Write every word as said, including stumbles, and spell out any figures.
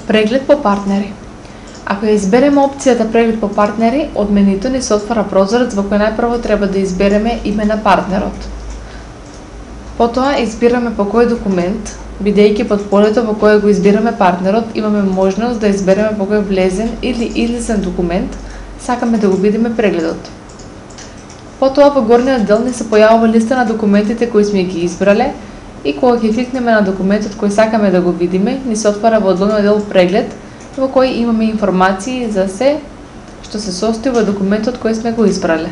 Преглед по партнери. Ако ја избереме опцијата преглед по партнери, од менито ни се отвара прозорец во кој најпрво треба да избереме име на партнерот. Потоа избираме по кој документ, бидејќи под полето во кое го избираме партнерот, имаме можност да избереме по кој влезен или излезен документ сакаме да го видиме прегледот. Потоа во горниот дел ни се појавува листа на документите кои сме ги избрале и кога ќе кликнеме на документот кој сакаме да го видиме, ни се отвара во долниот дел преглед во кој имаме информации за се што се состои во документот кој сме го избрале.